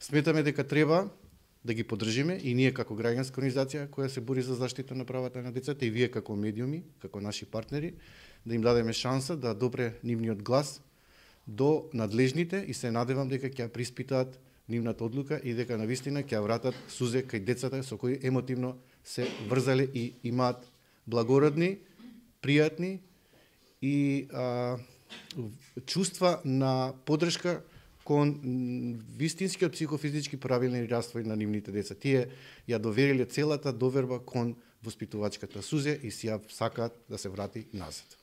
Сметаме дека треба да ги поддржиме и ние како граѓанска организација која се бори за заштита на правата на децата и вие како медиуми, како наши партнери, да им дадеме шанса да допре нивниот глас до надлежните и се надевам дека ќе приспитаат нивната одлука и дека навистина ќе вратат сузе кај децата со кои емотивно се врзале и имаат благородни, пријатни и чувства на поддршка кон вистинскиот психофизички правилен развој на нивните деца. Тие ја довериле целата доверба кон воспитувачката сузе и си ја сакаат да се врати назад.